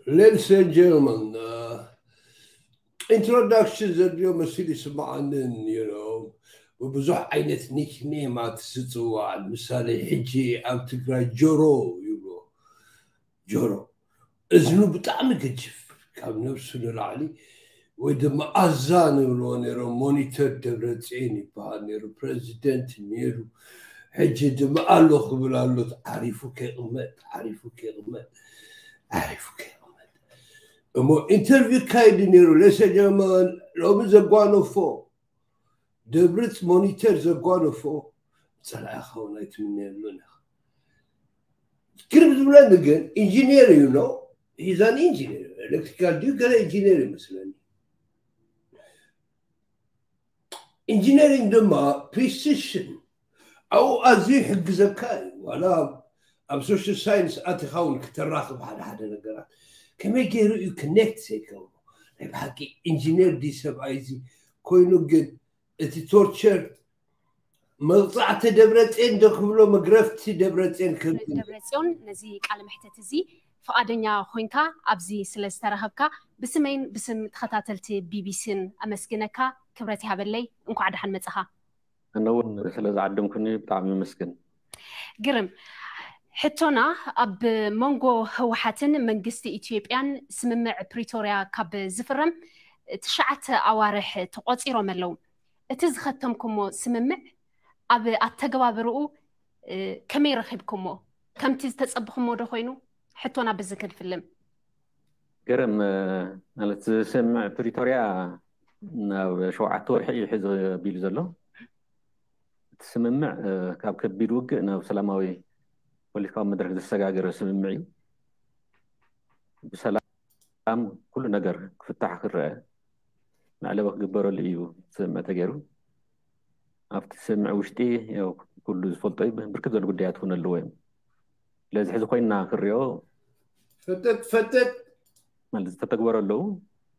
Ladies and gentlemen, uh, introduction ዘድልዮ መሲሉ ይስምዓንን you know ብብዙሕ ዓይነት ኒክኔማት ዝፅዋዕ ምሳሌ ሕጂ ኣብ ትግራይ ጆሮ ይብሎ። ጆሮ እዝኑ ብጣዕሚ ገጅፍ ካብ ነብሱ ንላዕሊ ወይ ድማ ኣዛ ንብልዎ ነይሮም። ሞኒተር ደብረፅዮን ይበሃል ነይሩ፣ ፕረዚደንት ነይሩ። ሕጂ ድማ ኣሎ ክብል ኣሎ። ዓሪፉ ከይቕመጥ፣ ዓሪፉ ከይቕመጥ፣ ዓሪፉ ከይቕመጥ። እሞ ኢንተርቪው ካይዲ ነይሩ። ለሰጀመን ሎሚ ዘጓነፎ ደብርፅ ሞኒተር ዘጓነፎ ፀላኢ ኸውን ኣይትምነየሉን ኢኻ። ግርም ዝብለኒ ግን ኢንጂነር እዩ ነው። ሂዛን ኢንጂነር ኤሌክትሪካል ድዩ ገለ ኢንጂነር ይመስለኒ። ኢንጂነሪንግ ድማ ፕሪሲሽን ኣብኡ ኣዝዩ ይሕግዘካ እዩ። ዋላ ኣብ ሶሻል ሳይንስ ኣቲኻ እውን ክተራኽብ ሓደ ሓደ ነገራት ከመይ ገይሩ እዩ ክኔክት ዘይገብሮ። ናይ ብሓቂ ኢንጂነር ዲ ሰብኣይ እዚ ኮይኑ ግን እቲ ቶርቸር መቕፃዕቲ ደብረፅዮን ዶ ክብሎ መግረፍቲ ደብረፅዮን ክብል ደብረፅዮን ነዚ ቃለ መሕተት እዚ ፍቓደኛ ኮይንካ ኣብዚ ስለ ዝተረኸብካ ብስመይን ብስም ተኸታተልቲ ቢቢሲን ኣመስግነካ። ክብረት ይሃበለይ። እንኳዕ ደሓን መጻኻ። ኣነ እውን ስለ ዝዓደምኩኒ ብጣዕሚ ይመስግን። ግርም ሕቶና፣ ኣብ መንጎ ህወሓትን መንግስቲ ኢትዮጵያን ስምምዕ ፕሪቶርያ ካብ ዝፍረም ትሽዓተ ኣዋርሕ ተቆፂሮም ኣለዉ። እቲ ዝኸተምኩሞ ስምምዕ ኣብ ኣተገባብርኡ ከመይ ረኺብኩሞ? ከምቲ ዝተፀብኹሞ ዶ ኮይኑ? ሕቶና በዚ ክንፍልም። ግርም ማለት ስምምዕ ፕሪቶርያ ናብ ሸውዓተ ወርሒ እዩ ሕዚ ኣቢሉ ዘሎ። እቲ ስምምዕ ካብ ከቢድ ውግእ ናብ ሰላማዊ ፖለቲካዊ መድረክ ዘሰጋገረ ስምምዕ እዩ። ብሰላም ኩሉ ነገር ክፍታሕ ክረአ መዕለቢ ክግበረሉ እዩ ስምምዕ ተገይሩ። ኣብቲ ስምምዕ ውሽጢ ኩሉ ዝፈልጦ እዩ፣ ብርክት ዝበሉ ጉዳያት እውን ኣለዎ እዮም። ስለዚ ሕዚ ኮይንና ክሪኦ ፈጠጥ ፈጠጥ ማለት ዝተተግበሩ ኣለዉ፣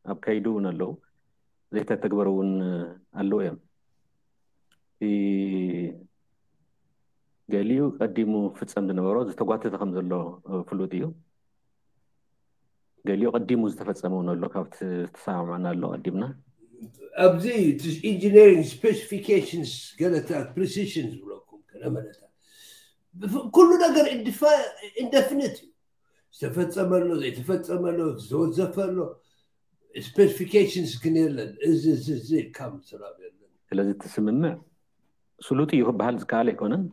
ኣብ ከይዱ እውን ኣለዉ፣ ዘይተተግበሩ እውን ኣለዉ እዮም። እቲ ገሊኡ ቀዲሙ ክፍፀም ዝነበሮ ዝተጓተተ ከም ዘሎ ፍሉጥ እዩ። ገሊኡ ቀዲሙ ዝተፈፀመ እውን ኣሎ፣ ካብቲ ዝተሰማማዕና ኣሎ ቀዲምና። ኣብዚ ኢንጂነሪንግ ስፔሲፊኬሽንስ ገለታት ፕሪሲሽን ዝብለኩም ገለ መለታት ኩሉ ነገር ኢንደፊኒት እዩ። ዝተፈፀመ ኣሎ፣ ዘይተፈፀመ ኣሎ፣ ዝተወዘፈ ኣሎ። ስፔሲፊኬሽንስ ግን የለን። እዚ እዚ እዚ ካብ ስራብ የለን። ስለዚ እቲ ስምምዕ ስሉጥ እዩ ክበሃል ዝከኣል ኣይኮነን።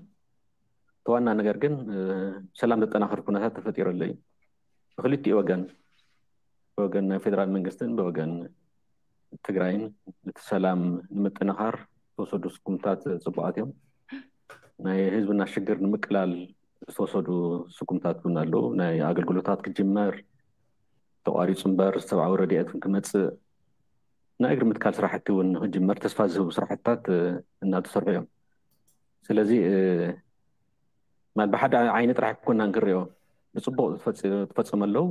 እቲ ዋና ነገር ግን ሰላም ዘጠናኽር ኩነታት ተፈጢሩ ኣሎ እዩ። ብክልቲኡ ወገን፣ ብወገን ናይ ፌደራል መንግስትን ብወገን ትግራይን እቲ ሰላም ንምጥንኻር ዝተወሰዱ ስጉምታት ፅቡቃት እዮም። ናይ ህዝብና ሽግር ንምቅላል ዝተወሰዱ ስጉምታት እውን ኣለዉ። ናይ ኣገልግሎታት ክጅመር ተቋሪፁ እምበር ሰብኣዊ ረድኤት ክመፅእ ናይ እግሪ ምትካል ስራሕቲ እውን ንክጅመር ተስፋ ዝህቡ ስራሕትታት እናተሰርሑ እዮም። ስለዚ ማለት ብሓደ ዓይኒ ጥራሕ ኣይኮናን ክሪኦ፣ ብፅቡቅ ዝፈፀሙ ኣለዉ፣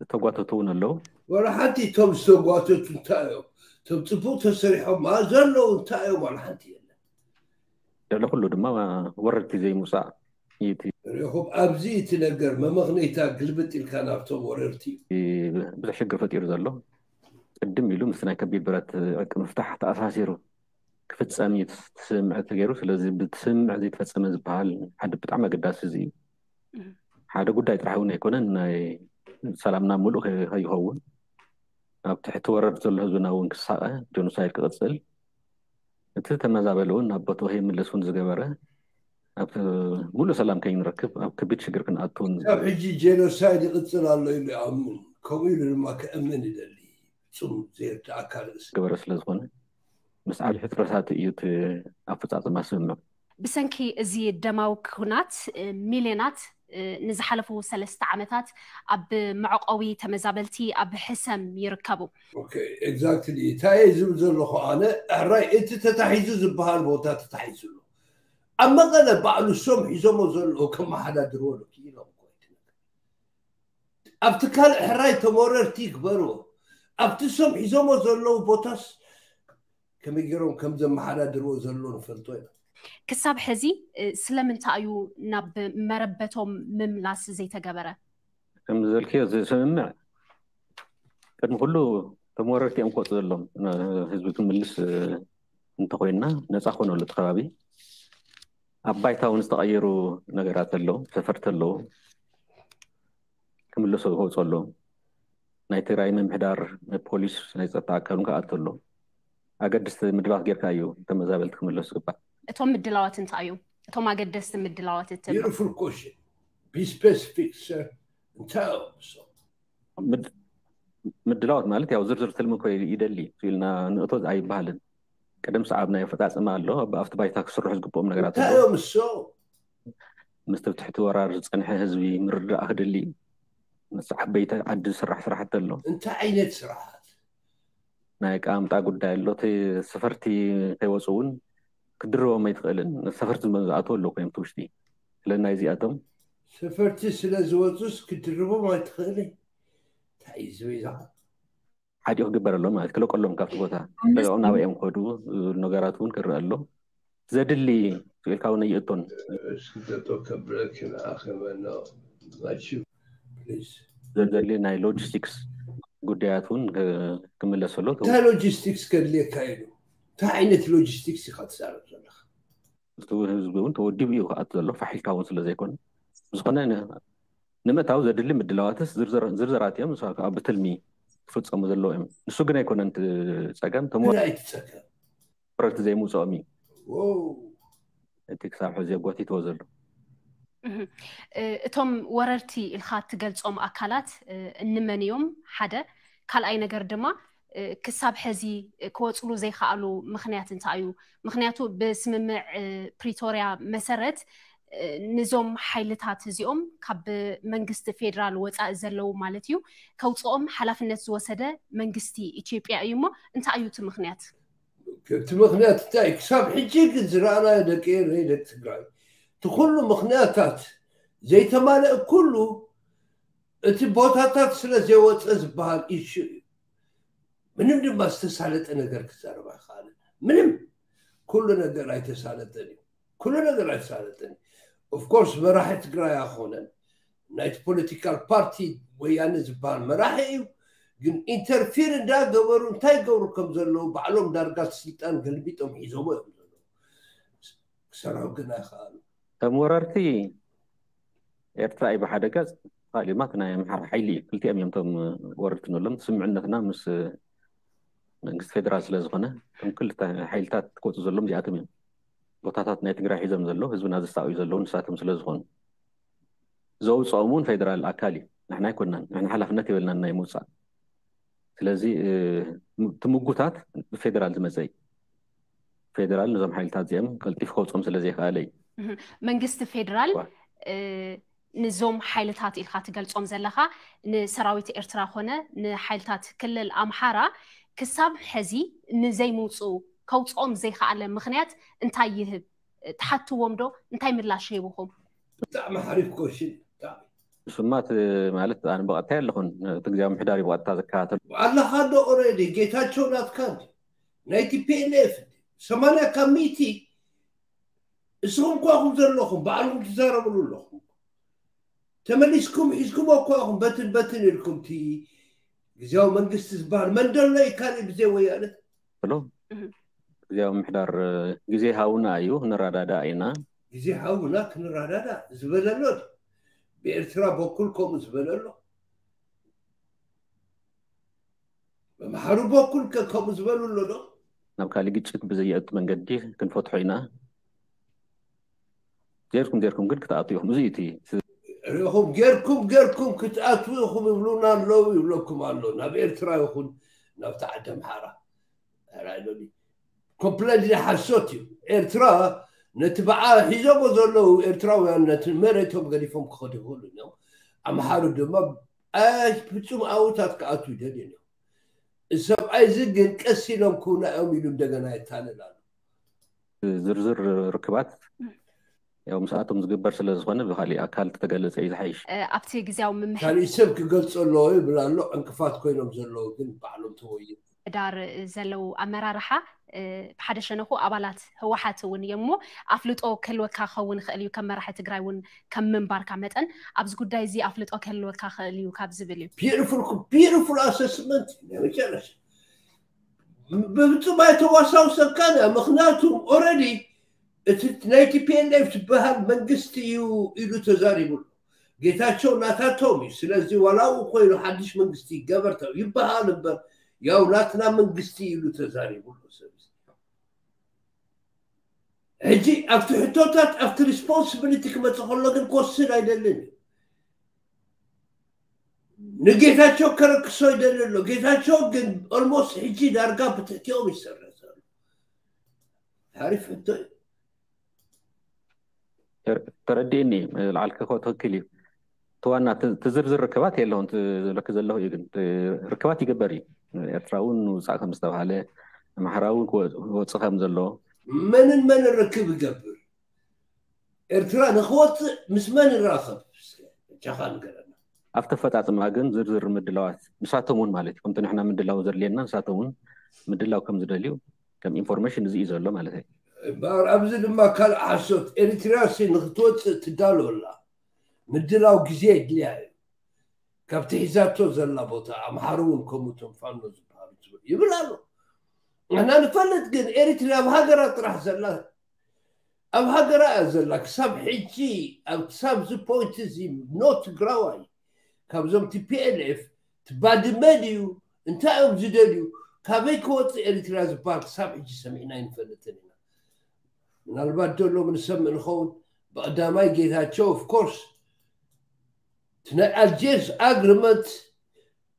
ዝተጓተቱ እውን ኣለዉ። ዋላ ሓንቲ እቶም ዝተጓተቱ እንታይ እዮም? እቶም ፅቡቅ ተሰሪሖም ዘለዉ እንታይ እዮም? ዋላ ሓንቲ የለን። ልዕሊ ኩሉ ድማ ወረድቲ ዘይምውፃእ እዩ እቲ ሪኹም ኣብዚ እቲ ነገር መመኽነይታ ግልብጥ ኢልካ ናብቶም ወረርቲ እዩ። ብዙሕ ሽግር ፈጢሩ ዘሎ ቅድም ኢሉ ምስ ናይ ከቢድ ብረት ዕርቂ ምፍታሕ ተኣሳሲሩ ክፍፀም እዩ ስምምዕ ተገይሩ። ስለዚ ብስምምዕ ዘይተፈፀመ ዝበሃል ሓደ ብጣዕሚ ኣገዳሲ እዚ እዩ። ሓደ ጉዳይ ጥራሕ እውን ኣይኮነን፣ ናይ ሰላምና ሙሉእ ከይኸውን ኣብ ትሕቲ ወረር ዘሎ ህዝብና እውን ክሳቐ ጆኖሳይድ ክቕፅል እቲ ተመዛበሊ እውን ናብ ቦትኡ ከይምለስ እውን ዝገበረ ኣብ ሙሉእ ሰላም ከይንረክብ ኣብ ከቢድ ሽግር ክንኣቱ እውን ካብ ሕጂ ጄኖሳይድ ይቕፅል ኣሎ ኢሉ ይኣምን። ከምኡ ኢሉ ድማ ክእምን ይደሊ። ፍፁም ዘይርዳእካ ርእሲ። ገበረ ስለ ዝኾነ ምስ ዓብዪ ሕፅረታት እዩ እቲ ኣፈፃፅማ ስምምዕ። ብሰንኪ እዚ ደማዊ ኩናት ሚልዮናት ንዝሓለፉ ሰለስተ ዓመታት ኣብ መዕቆቢ ተመዛበልቲ ኣብ ሕሰም ይርከቡ። ኤግዛክትሊ እንታይ እየ ዝብል ዘለኹ ኣነ፣ ሕራይ እቲ ተታሒዙ ዝበሃል ቦታ ተታሒዙ ኣሎ። ኣብ መቐለ ባዕሉ እሶም ሒዞሞ ዘለዉ ከመሓዳድርዎ ዶ ክኢሎም እኮ እቲ ነገር ኣብቲ ካልእ ሕራይ ተመረርቲ ይግበርዎ። ኣብቲ እሶም ሒዞሞ ዘለዉ ቦታስ ከመይ ገይሮም ከም ዘመሓዳድርዎ ዘሎ ንፈልጦ ኢና። ክሳብ ሕዚ ስለምንታይ እዩ ናብ መረበቶም ምምላስ ዘይተገበረ? ከም ዝበልክዮ እዚ ስምምዕ ቅድሚ ኩሉ እቶም ወረርቲ እዮም ክወፁ ዘለዎም። ህዝቢ ክምልስ እንተኮይንና ነፃ ክኾነሉ እቲ ከባቢ። ኣብ ባይታ እውን ዝተቐየሩ ነገራት ኣለዉ፣ ሰፈርቲ ኣለዉ፣ ክምለሱ ክወፁ ኣለዎም። ናይ ትግራይ ምምሕዳር፣ ናይ ፖሊስ፣ ናይ ፀጥታ ኣካል እውን ክኣቱ ኣሎ። ኣገድስቲ ምድላዋት ጌርካ እዩ ተመዛበልቲ ክምለሱ ዝግባእ። እቶም ምድላዋት እንታይ እዮም? እቶም ኣገደስቲ ምድላዋት እትብሎ? Beautiful question. Be specific, sir. እንታይ እዮም እሶም? ምድላዋት ማለት ያው ዝርዝር ትልሚ እኮ ይደሊ ኢልና ንእቶ ኣይበሃልን። ቅድም ሰዓብ ናይ ኣፈፃፅማ ኣሎ። ኣብቲ ባይታ ክስርሑ ዝግብኦም ነገራት እንታይ እዮም እሶም? ምስቲ ትሕቲ ወራር ዝፀንሐ ህዝቢ ምርዳእ ክድሊ ምስ ዓበይቲ ዓዲ ዝስራሕ ስራሕቲ ኣሎ። እንታይ ዓይነት ስራሓት? ናይ ኣቀማምጣ ጉዳይ ኣሎ። እቲ ሰፈርቲ ከይወፁ እውን ክድርቦም ኣይትኽእልን። ሰፈርቲ ዝኣተው ኣለዉ ኮይኖም እቲ ውሽጢ ስለ ናይ እዚኣቶም ሰፈርቲ ስለ ዝወፁስ ክድርቦም ኣይትኽእልን? እንታይ እዩ ዝብል እዛ? ሓዲኡ ክግበር ኣሎ ማለት ክለቀሎም ካብቲ ቦታ ለቀው ናበይ እዮም ከዱ ነገራት እውን ክረአ ኣሎ። ዘድሊ ኢልካ እውን ኣይእቶን። እስኪ ጠጠው ከብለኪ ንኣኸበና ናችሁ Please. ዘድሊ ናይ ሎጂስቲክስ ጉዳያት እውን ክምለስ ኣሎ። እንታይ ሎጂስቲክስ ከድልየካ ኢሉ? እንታይ ዓይነት ሎጂስቲክስ ኢኻ ትዛረብ ዘለኻ? እቲ ህዝቢ እውን ተወዲቡ እዩ ክኣቱ ዘሎ ፋሕ ኢልካ እውን ስለ ዘይኮነ ብዝኾነ ን- ንምእታው ዘድሊ ምድላዋትስ ዝርዝር- ዝርዝራት እዮም። ንሳ ከዓ ብትልሚ ክፍፀሙ ዘለዎ እዮም። ንሱ ግን ኣይኮነን እቲ ፀገም፣ እቶም እንታይ እቲ ፀገም? ወረርቲ ዘይምውፅኦም እዩ ዎው። እቲ ክሳብ ሕዚ ጎቲትዎ ዘሎ። እህ፣ እ፣ እቶም ወረርቲ ኢልካ እትገልጾም ኣካላት እ፣ እንመን እዮም? ሓደ ካልኣይ ነገር ድማ እ፣ ክሳብ ሕዚ ክወፅሉ ዘይከኣሉ ምኽንያት እንታይ እዩ? ምኽንያቱ ብስምምዕ እ፣ ፕሪቶርያ መሰረት እ፣ ንዞም ሓይልታት እዚኦም ካብ መንግስቲ ፌዴራል ወፃኢ ዘለዉ ማለት እዩ ከውፅኦም ሓላፍነት ዝወሰደ መንግስቲ ኢትዮጵያ እዩ። እሞ እንታይ እዩ እቲ ምኽንያት? እቲ ምኽንያት እንታይ? ክሳብ ሕጂ ግን ዝረኣናዮ ደቂ ኤረይ፣ ደቂ ትግራይ፣ እቲ ኩሉ ምኽንያታት ዘይተማልአ ኩሉ እቲ ቦታታት ስለ ዘይወፀ ዝበሃል ኢሹ እዩ። ምንም ድማ ዝተሳለጠ ነገር ክዛረብ ኣይከኣልን። ምንም ኩሉ ነገር ኣይተሳለጠን እዩ። ኩሉ ነገር ኣይተሳለጠን እዩ። ኦፍኮርስ መራሒ ትግራይ ኣይኮነን፣ ናይቲ ፖለቲካል ፓርቲ ወያነ ዝበሃል መራሒ እዩ። ግን ኢንተርፊር እንዳገበሩ እንታይ ይገብሩ ከም ዘለዉ ባዕሎም ዳርጋ ስልጣን ገልቢጦም ሒዞሞ እዮም ዘለዉ። ክሰርሑ ግን ኣይከኣሉ። ከም ወረርቲ ኤርትራ እዩ ብሓደ ገፅ፣ ካልእ ድማ እቲ ናይ ኣምሓራ ሓይሊ እዩ። ክልቲኦም እዮም እቶም ወረርቲ ንብሎም። ስምዕነትና ምስ መንግስቲ ፌደራል ስለ ዝኾነ እቶም ክልተ ሓይልታት ክወፁ ዘሎም እዚኣቶም እዮም። ቦታታት ናይ ትግራይ ሒዞም ዘለዉ ህዝብና ዘሳቕዩ ዘለዉ ንሳቶም ስለ ዝኾኑ ዘውፅኦም እውን ፌደራል ኣካል እዩ። ንሕና ኣይኮናን፣ ንሕና ሓላፍነት የብልናን ናይ ምውፃእ። ስለዚ እ፣ ም- እቲ ምጉታት ብፌደራል ዝመፀ እዩ። ፌደራል ነዞም ሓይልታት እዚኦም ቀልጢፉ ከውፅኦም ስለ ዘይከኣለ እዩ። እህ፣ መንግስቲ ፌደራል ዋ። እ፣ ንዞም ሓይልታት ኢልካ ትገልጾም ዘለኻ ንሰራዊት ኤርትራ ኮነ ንሓይልታት ክልል ኣምሓራ ክሳብ ሕዚ ንዘይምውፅኡ ከውፅኦም ዘይከኣለ ምኽንያት እንታይ ይህብ? ትሓትዎም ዶ? እንታይ ምላሽ ሂብኹም? ብጣዕሚ ሓሪፍ ኮሽን። ብጣዕሚ እሱማ እቲ ማለት ኣነ ብቐጥታ ኣለኹን እቲ ግዜያዊ ምሕዳር እዩ ብቐጥታ ዝከታተል። ኣለኻ ዶ ኦሬዲ ጌታቸው ናትካ እንዲ ናይ ቲፒኤልኤፍ ሰማንያ ካብ ሚእቲ እስኹም ኳኹም ዘለኹም ባዕልኹም ትዛረብሉ ኣለኹም። ተመሊስኩም ሒዝኩም እኳኹም በትን በትን ኢልኩም እቲ ግዜያዊ መንግስቲ ዝበሃል መን ደሎ እዩ ካልእ ብዘይ ወያነ? ብሎ እህ። ግዜያዊ ምሕዳር ግዜ ሃውና እዩ፣ ክንረዳዳእ ኢና። ግዜ ሃውና ክንረዳዳ ዝበለሎ ብኤርትራ በኩል ከምኡ ዝበለሎ መምሓሩ በኩል ከ ከምኡ ዝበሉ ኣሎ ዶ? ናብ ካልእ ግጭት ብዘየእቱ መንገዲ ክንፈትሖ ኢና። ጌርኩም ጌርኩም ግን ክትኣቱ ኢኹም። እዚ እቲ ርኢኹም ጌርኩም ጌርኩም ክትኣትዉ ኢኹም ይብሉና ኣለዉ ይብለኩም ኣሎ ናብ ኤርትራ ይኹን ናብቲ ዓዲ ኣምሓራ። ኮምፕለንት ሓሶት እዩ። ኤርትራ ነቲ ብዓ ሒዞሞ ዘለዉ ኤርትራውያን ነቲ መሬቶም ገዲፎም ክኸዱ ይኽእሉ እዮም። ኣምሓሩ ድማ ኣይ ፍጹም ኣውታት ክኣትዉ ይደልዩ እዮም። እዚ ሰብኣይ እዚ ግን ቀስ ኢሎም ክውና እዮም ኢሉ እንደገና የታልል ኣሎ። ዝርዝር ርክባት ያው ምስኣቶም ዝግበር ስለ ዝኾነ ብካሊእ ኣካል ተተገለጸ እዩ ዝሓይሽ። ኣብቲ ግዜያዊ ምምሕ ካልእ ሰብ ክገልጾ ኣለዎ ይብል ኣሎ። ዕንቅፋት ኮይኖም ዘለዉ ግን ባዕሎም ተወዩ። ዳር ዘለዉ ኣመራርሓ ብሓደ ሸነኹ ኣባላት ህወሓት እውን እዮም እሞ ኣፍልጦ ክህልወካ ክኸውን ይኽእል እዩ። ከም መራሒ ትግራይ እውን ከም ምንባርካ መጠን ኣብዚ ጉዳይ እዚ ኣፍልጦ ክህልወካ ክእል እዩ ካብ ዝብል እዩ። Beautiful assessment ናይ መጨረሻ ብፍጹም ኣይተዋሳውሰካን እያ። ምክንያቱ already እቲ ናይ ቲፒኤልኤፍ ዝበሃል መንግስቲ እዩ ኢሉ ተዛሪቡ ኣሎ። ጌታቸው ናታቶም እዩ። ስለዚ ዋላ ኡ ኮይኑ ሓድሽ መንግስቲ ይገበር ይበሃል እምበር ያው ናትና መንግስቲ ኢሉ ተዛሪቡ ኣሎ። ሰብ ሕጂ ኣብቲ ሕቶታት ኣብቲ responsibility ክመጽእ ከሎ ግን ክወስድ ኣይደልን እዩ። ንጌታቸው ከረክሶ ይደሊ ኣሎ። ጌታቸው ግን almost ሕጂ ዳርጋ ብትሕቲኦም ይሰርሕ ዘሎ። ሓሪፍ ሕቶ እዩ። ተረዲእኒ። ላዕልከ ትክክል እዩ። ተዋና ትዝርዝር ርክባት የለውን ዝብለክ ዘለኹ እዩ። ግን ርክባት ይግበር እዩ። ኤርትራ እውን ውፃእ ከም ዝተባሃለ ኣምሓራ እውን ክወፅእ ከም ዘሎ መንን መንን ርክብ ይገብር? ኤርትራ ንክወፅእ ምስ መን ይራኸብ? ጃኻ ንገረና። ኣብቲ ኣፈፃፅማ ግን ዝርዝር ምድላዋት ንሳቶም እውን ማለት እዩ ከምቲ ንሕና ምድላው ዘድልየና ንሳቶም እውን ምድላው ከም ዝደልዩ ከም ኢንፎርሜሽን እዚ እዩ ዘሎ ማለት እዩ። እምበኣር ኣብዚ ድማ ካልእ ሓሶት ኤሪትርያ ሲ ንክትወፅእ ትዳሎ ኣላ። ምድላው ግዜ የድልያ እዩ። ካብቲ ሒዛቶ ዘላ ቦታ ኣምሓሩ እውን ከምኡ እቶም ፋኖ ዝበሃሉ ይብል ኣሎ። ንሕና ንፈልጥ ግን ኤሪትርያ ኣብ ሃገራ ጥራሕ ዘላ ኣብ ሃገራ እያ ዘላ ክሳብ ሕጂ ኣብ ክሳብ እዚ ፖይንት እዚ ኖ ትግራዋይ ካብዞም ቲ ፒ ኤል ኤፍ ትባድመ ድዩ እንታይ እዮም ዝደልዩ ካበይ ክወፅእ ኤሪትርያ ዝበሃል ክሳብ ሕጂ ሰሚዕና ኣይንፈልጥን ኢና። ምናልባት ዶ ሎም ንሰምዕ ንኸውን ብቐዳማይ ጌታቸው of course እቲ ናይ ኣልጀርስ ኣግሪመንት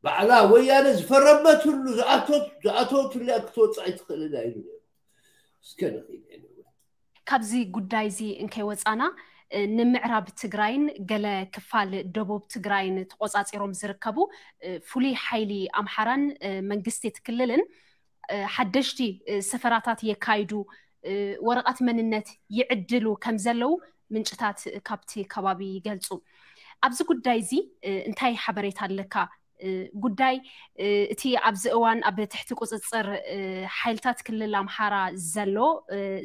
ባዕላ ወያነ ዝፈረመትሉ ዝኣተወትሉ እያ ክትወፅእ ኣይትኽእልን እያ ኢሉ ነይሩ። እስከ ንኽእል anyway። ካብዚ ጉዳይ እዚ እንከይወፃና ንምዕራብ ትግራይን ገለ ክፋል ደቡብ ትግራይን ተቆፃፂሮም ዝርከቡ ፍሉይ ሓይሊ ኣምሓራን መንግስቲ እቲ ክልልን ሓደሽቲ ሰፈራታት የካይዱ፣ ወረቐት መንነት ይዕድሉ ከም ዘለዉ ምንጭታት ካብቲ ከባቢ ይገልፁ። ኣብዚ ጉዳይ እዚ እንታይ ሓበሬታ ኣለካ? ጉዳይ እቲ ኣብዚ እዋን ኣብ ትሕቲ ቁፅፅር ሓይልታት ክልል ኣምሓራ ዘሎ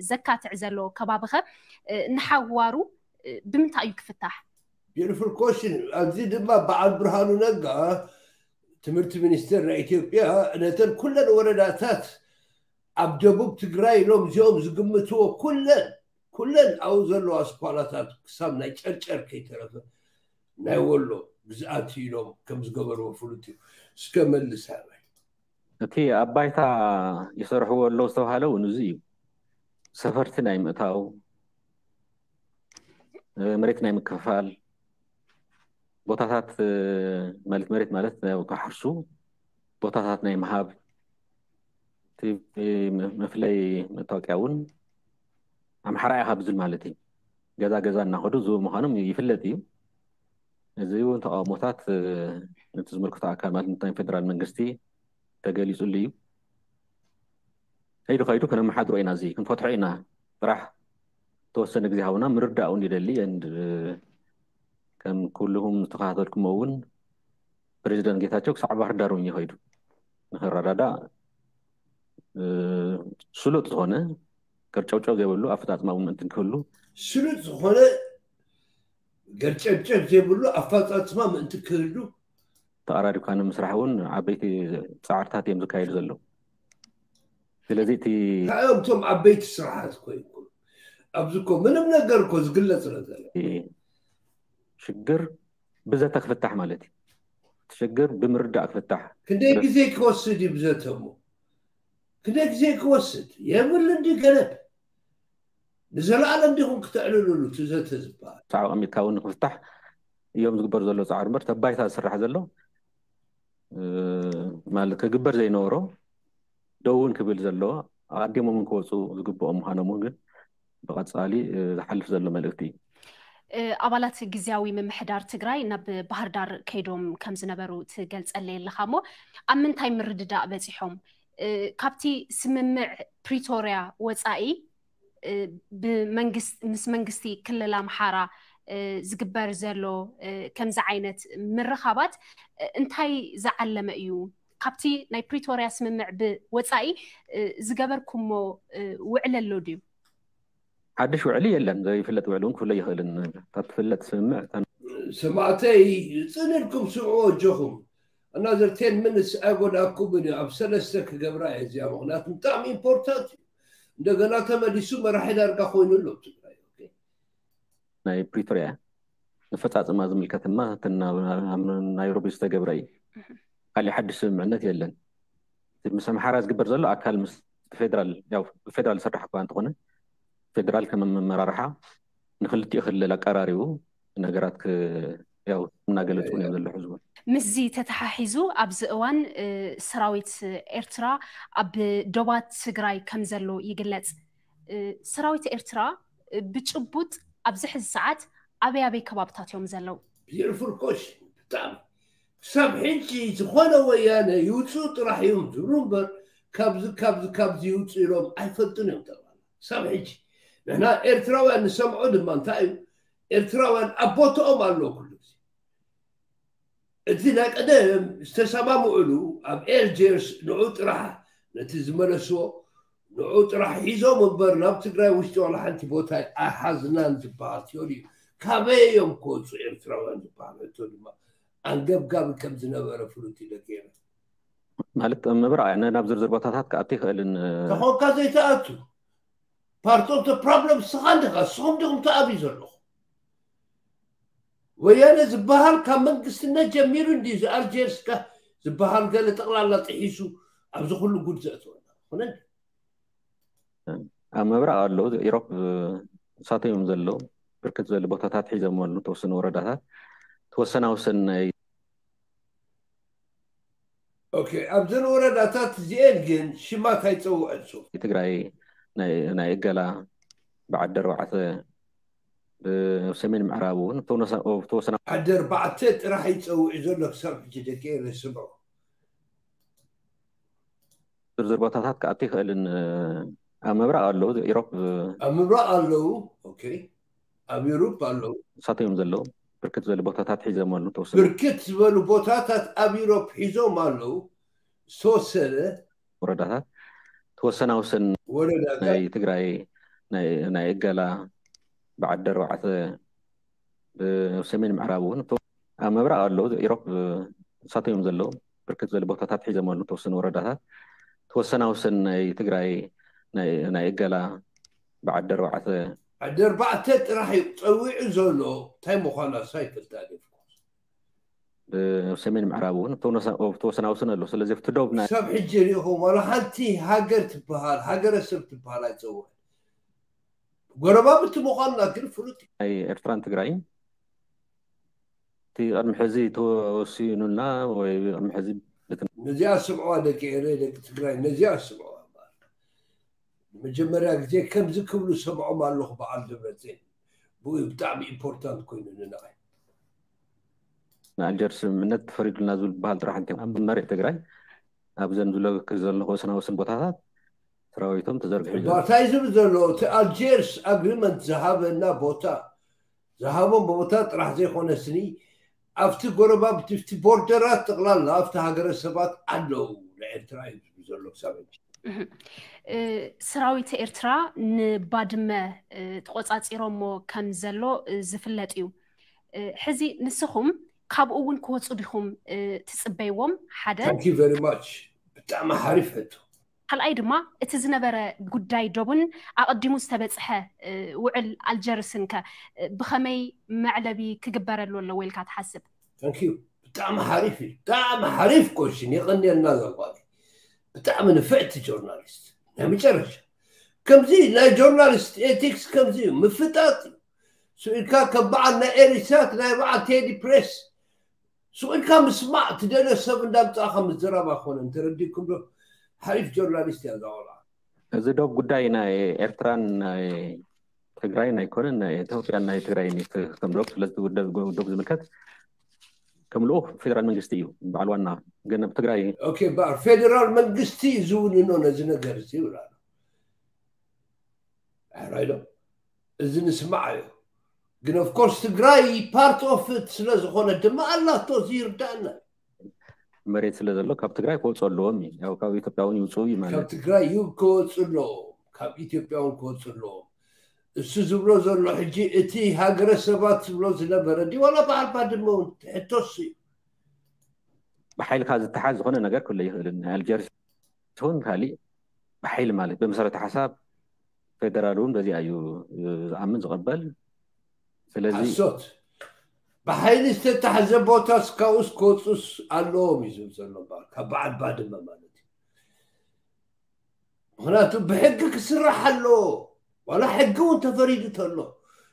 ዘካትዕ ዘሎ ከባቢኸ ንሓዋሩ ብምንታይ እዩ ክፍታሕ? Beautiful question። ኣብዚ ድማ በዓል ብርሃኑ ነጋ ትምህርቲ ሚኒስቴር ናይ ኢትዮጵያ ነተን ኩለን ወረዳታት ኣብ ደቡብ ትግራይ ኢሎም እዚኦም ዝግምትዎ ኩለን ኩለን ኣብኡ ዘለዋ ኣስኳላታት ክሳብ ናይ ጨርጨር ከይተረፈ ናይ ወሎ ግዝኣት ኢሎም ከም ዝገበርዎ ፍሉጥ እዩ። እስከ መልስ ሃበይ። እቲ ኣብ ባይታ ይሰርሕዎ ኣለዉ ዝተባሃለ እውን እዚ እዩ። ሰፈርቲ ናይ ምእታው፣ መሬት ናይ ምክፍፋል፣ ቦታታት ማለት መሬት ማለት ክሓርሱ ቦታታት ናይ ምሃብ፣ እቲ መፍለይ መታወቂያ እውን ኣምሓራ ኢኻ ብዝብል ማለት እዩ። ገዛ ገዛ እናኸዱ ዝህቡ ምዃኖም ይፍለጥ እዩ። እዚ እውን ተቃውሞታት ነቲ ዝምልክቶ ኣካል ማለት ናይ ፌደራል መንግስቲ ተገሊፁሉ እዩ። ከይዱ ከይዱ ከነመሓድሮ ኢና፣ እዚ ክንፈትሖ ኢና። ጥራሕ ተወሰነ ግዜ ሃቡና ምርዳእ እውን ይደሊ። And ከም ኩልኹም ዝተኸታተልኩሞ እውን ፕሬዚደንት ጌታቸው ክሳዕ ባህር ዳር እውን ይኸይዱ ንክረዳዳእ ስሉጥ ዝኾነ ገርጨውጨው ዘይብሉ ኣፈፃፅማ እውን ምእንቲ ክህሉ ስሉጥ ዝኾነ ገርጨብጨብ ዘይብሉ ኣፈፃፅማ ምእንቲ ክህሉ ተቐራሪብካ ንምስራሕ እውን ዓበይቲ ፃዕርታት እዮም ዝካየዱ ዘለዉ። ስለዚ እቲ እንታይ እዮም እቶም ዓበይቲ ስራሓት እኮ ይኮኑ ኣብዚ እኮ ምንም ነገር እኮ ዝግለፅ ነገር ሽግር ብዘተ ክፍታሕ ማለት እዩ። እቲ ሽግር ብምርዳእ ክፍታሕ። ክንደይ ግዜ ክወስድ እዩ ብዘተ እሞ? ክንደይ ግዜ ክወስድ የብል እንዲ ገለብ ንዘለኣለም ዲኹም ክተዕልልሉ እቲ ዘተ ዝበሃል? ሳዕ ኣቐሚጥካ እውን ንክፍታሕ እዮም ዝግበር ዘሎ ፃዕሪ እምበር ተባይታ ዝስራሕ ዘሎ ማለት ክግበር ዘይነበሮ ደው እውን ክብል ዘለዎ ኣቐዲሞም እውን ክወፁ ዝግብኦም ምዃኖም እውን ግን ብቐፃሊ ዝሓልፍ ዘሎ መልእክቲ እዩ። ኣባላት ግዝያዊ ምምሕዳር ትግራይ ናብ ባህር ዳር ከይዶም ከም ዝነበሩ ትገልፀለይ ኣለኻ እሞ ኣብ ምንታይ ምርድዳእ በፂሖም? ካብቲ ስምምዕ ፕሪቶርያ ወፃኢ ምስ መንግስቲ ክልል ኣምሓራ ዝግበር ዘሎ ከምዚ ዓይነት ምርኻባት እንታይ ዝዓለመ እዩ? ካብቲ ናይ ፕሪቶርያ ስምምዕ ብወፃኢ ዝገበርኩሞ ውዕል ኣሎ ድዩ? ሓድሽ ውዕሊ የለን። ዘይፍለጥ ውዕሊ እውን ክፍለ ይኽእልን። ካብ ትፍለጥ ስምምዕ ሰማዕተይ፣ ፅን ኢልኩም ስምዕዎ ኣጆኹም። እና ዘር ቴን ሚኒትስ ኣይጎዳእኩምን እዩ። ኣብ ሰለስተ ክገብራ እየ እዚኣ፣ ምኽንያቱ ብጣዕሚ ኢምፖርታንት እዩ። እንደገና ተመሊሱ መራሒ ዳርጋ ኮይኑ ኣሎ ኣብ ትግራይ። ናይ ፕሪቶርያ ንፈፃፅማ ዝምልከት ድማ ናይሮቢ ዝተገብረ እዩ። ካሊእ ሓድሽ ስምምዕነት የለን። ምስ ኣምሓራ ዝግበር ዘሎ ኣካል ምስ ፌደራል ዝሰርሕ እኳ እንተኾነ፣ ፌደራል ከም ኣመራርሓ ንክልቲኡ ክልል ኣቀራሪቡ ነገራት እናገለፁ እዮም ዘሎ ሕዝቡ። ምስዚ ተተሓሒዙ ኣብዚ እዋን ሰራዊት ኤርትራ ኣብ ዶባት ትግራይ ከም ዘሎ ይግለፅ። ሰራዊት ኤርትራ ብጭቡጥ ኣብዚ ሕዚ ሰዓት ኣበይ ኣበይ ከባብታት እዮም ዘለዉ? ቢዩቲፉል ኮሽን። ብጣዕሚ ክሳብ ሕጂ ዝኾነ ወያነ ይውፅኡ ጥራሕ እዮም ዝብሉ እምበር፣ ካብዚ ካብዚ ካብዚ ይውፅኡ ኢሎም ኣይፈልጡን እዮም። ጠቕላላ ክሳብ ሕጂ ንሕና ኤርትራውያን ንሰምዖ ድማ እንታይ እዩ፣ ኤርትራውያን ኣብ ቦትኦም ኣለዉ። ኩሉ ግዜ እቲ ናይ ቀደም ዝተሰማምዕሉ ኣብ ኤልጀርስ ንዑ ጥራሕ፣ ነቲ ዝመለስዎ ንዑ ጥራሕ ሒዞም እምበር ናብ ትግራይ ውሽጢ ዋላ ሓንቲ ቦታ ኣይሓዝናን ዝበሃል ቲዮሪ እዩ። ካበይ እዮም ክወፁ ኤርትራውያን ዝበሃል ሕቶ ድማ ኣንገብጋቢ ከም ዝነበረ ፍሉጥ እዩ። ደቂ ኤረ ማለት ምብራቕ ናብ ዝርዝር ቦታታት ክኣቱ ይኽእልን ተኾንካ ዘይተኣቱ ፓርት ኦፍ ፕሮብለም ስኻ እንዲኻ። ስኹም ዲኹም ተኣብዩ ዘለኹ ወያነ ዝበሃል ካብ መንግስትነት ጀሚሩ እንዲ ኣልጀርስ ዝበሃል ገለ ጠቕላላ ጥሒሱ ኣብዚ ኩሉ ጉድ ዘእትወና። ኣብ ምብራቕ ኣለዉ። ኢሮፕ እሳቶም እዮም ዘለዉ። ብርክት ዝበሉ ቦታታት ሒዞም ኣለዉ። ተወሰኑ ወረዳታት ተወሰና ወሰን ናይ ኦኬ፣ ኣብዘን ወረዳታት እዚኤን ግን ሽማት ኣይፀውዐን። ሶ ትግራይ ናይ እገላ ብዓዲ ኣርባዕተ ብሰሜን ምዕራብ እውን ተወሰና ዓዲ ኣርባዕተ ጥራሕ ይፀውዕ ዘሎ ክሳብ ሕጂ ደቂ ኤረ ስምዑ። ዝርዝር ቦታታት ክኣቱ ይኽእልን ኣብ ምብራቕ ኣለዉ። ኢሮፕ ኣብ ምብራቕ ኣለዉ። ኦኬ፣ ኣብ ዩሮፕ ኣለዉ። እሳቶም እዮም ዘለዉ። ብርክት ዝበሉ ቦታታት ሒዞም ኣለዉ። ተወሰኑ ብርክት ዝበሉ ቦታታት ኣብ ዩሮፕ ሒዞም ኣለዉ። ዝተወሰነ ወረዳታት ተወሰና ወሰን ወረዳታት ናይ ትግራይ ናይ እገላ ብዓዲ ኣርባዕተ ብሰሜን ምዕራብ እውን ኣብ ምብራቕ ኣለዉ። ኢሮፕ እሳቶም እዮም ዘለዉ። ብርክት ዝበሉ ቦታታት ሒዞም ኣለዉ። ተወሰኑ ወረዳታት ተወሰና ወሰን ናይ ትግራይ ናይ እገላ ብዓዲ ኣርባዕተ ዓዲ ኣርባዕተ ጥራሕ እዩ ፀዊዑ ዘሎ። እንታይ ምዃና እሳ ይፈልጣ። ብሰሜን ምዕራብ እውን ተወሰና ወሰን ኣሎ። ስለዚ ኣብቲ ዶብ ናይ ክሳብ ሕጂ ሪኢኹም ዋላ ሓንቲ ሃገር ትበሃል ሃገረሰብ ትበሃል ኣይፀውዕን። ጎረባብቲ ምዃንና ግን ፍሉጥ እዩ። ናይ ኤርትራን ትግራይን እቲ ቅድሚ ሕዚ ተወሲኑልና ወይ ቅድሚ ሕዚ ነዚኣ ስምዕዋ ደቂ ኤረ ደቂ ትግራይ ነዚኣ ስምዕዋ። ንመጀመርያ ግዜ ከምዚ ክብሉ ሰምዖም ኣለኹ በዓል ደብረፅን። ብኡ ብጣዕሚ ኢምፖርታንት ኮይኑ ንንዓይ። ንኣልጀርስ ስምምዕነት ተፈሪዱልና ዝብል በሃል ጥራሕ እንተ ኣብ መሬት ትግራይ ኣብዘን ዝለበክ ዘለኹ ወሰናወስን ቦታታት ሰራዊቶም ተዘርግሑ እዩ ዘሎ። እንታይ ዝብል ዘሎ እቲ ኣልጀርስ ኣግሪመንት ዝሃበና ቦታ ዝሃቦም ቦታ ጥራሕ ዘይኮነ ስኒ ኣብቲ ጎረባብቲ ኣብቲ ቦርደራት ጠቕላላ ኣብቲ ሃገረሰባት ኣለዉ። ንኤርትራ እዩ ዝብል ዘሎ ክሳብ ሕጂ። ሰራዊት ኤርትራ ንባድመ ተቆፃፂሮሞ ከም ዘሎ ዝፍለጥ እዩ። ሕዚ ንስኹም ካብኡ እውን ክወፁ ዲኹም ትፅበይዎም? ሓደ Thank you very much። ብጣዕሚ ሓሪፍ ሕቶ። ካልኣይ ድማ እቲ ዝነበረ ጉዳይ ዶብን ኣቐዲሙ ዝተበፅሐ ውዕል ኣልጀርስን ከ ብኸመይ መዕለቢ ክግበረሉ ኣለዎ ኢልካ ትሓስብ? Thank you። ብጣዕሚ ሓሪፍ እዩ። ብጣዕሚ ሓሪፍ ኮሽን። የቐንየልና ዘጓል ብጣዕሚ ንፍዕቲ ጆርናሊስት ናይ መጨረሻ። ከምዚ ናይ ጆርናሊስት ኤቲክስ ከምዚ እዩ። ምፍጣጥ እዩ። ስኢልካ ከም በዓል ናይ ኤሪሳት ናይ በዓል ቴዲ ፕሬስ ስኢልካ ምስማዕ ትደልዮ ሰብ እንዳምፃእካ ምዝራብ ኣይኮነን። ተረዲእኩም ዶ? ሓሪፍ ጆርናሊስት እያ እዛ ቆልዓ። እዚ ዶብ ጉዳይ ናይ ኤርትራን ናይ ትግራይን ኣይኮነን፣ ናይ ኢትዮጵያን ናይ ትግራይን እዩ። ከም ዶብ ስለዚ ዶብ ዝምልከት ከም ልኡኽ ፌደራል መንግስቲ እዩ በዓል ዋና። ግን ኣብ ትግራይ ኦኬ፣ በዓል ፌደራል መንግስቲ እዩ ዝውንኖ ነዚ ነገር እዚ ይብላሉ። ሕራይ ዶ? እዚ ንስማዕ እዩ። ግን of course ትግራይ part of it ስለ ዝኾነ ድማ ኣላቶ፣ እዚ ይርዳእና። መሬት ስለ ዘሎ ካብ ትግራይ ክወፁ ኣለዎም እዩ። ያው ካብ ኢትዮጵያ እውን ይውፅኡ እዩ ማለት ካብ ትግራይ እዩ ክወፁ ኣለዎም፣ ካብ ኢትዮጵያ እውን ክወፁ ኣለዎም። እሱ ዝብሎ ዘሎ ሕጂ እቲ ሃገረ ሰባት ዝብሎ ዝነበረ ድዩ ዋላ በዓል ባድመ እውን ትሕቶስ እዩ። ብሓይልካ ዝተሓዝ ዝኾነ ነገር ክህሉ ይኽእልን ናይ ኣልጀርስ ይኹን ካሊእ ብሓይሊ ማለት ብመሰረተ ሓሳብ ፌደራል እውን በዚኣ እዩ ዝኣምን ዝቐበል። ስለዚ ሓሶት። ብሓይሊ ዝተታሕዘ ቦታ እስካውስ ክወፁስ ኣለዎም እዩ ዝብል ዘሎ እምበኣር ካብ በዓል ባድመ ማለት እዩ። ምክንያቱ ብሕጊ ክስራሕ ኣለዎ። ዋላ ሕጊ እውን ተፈሪዱ ተሎ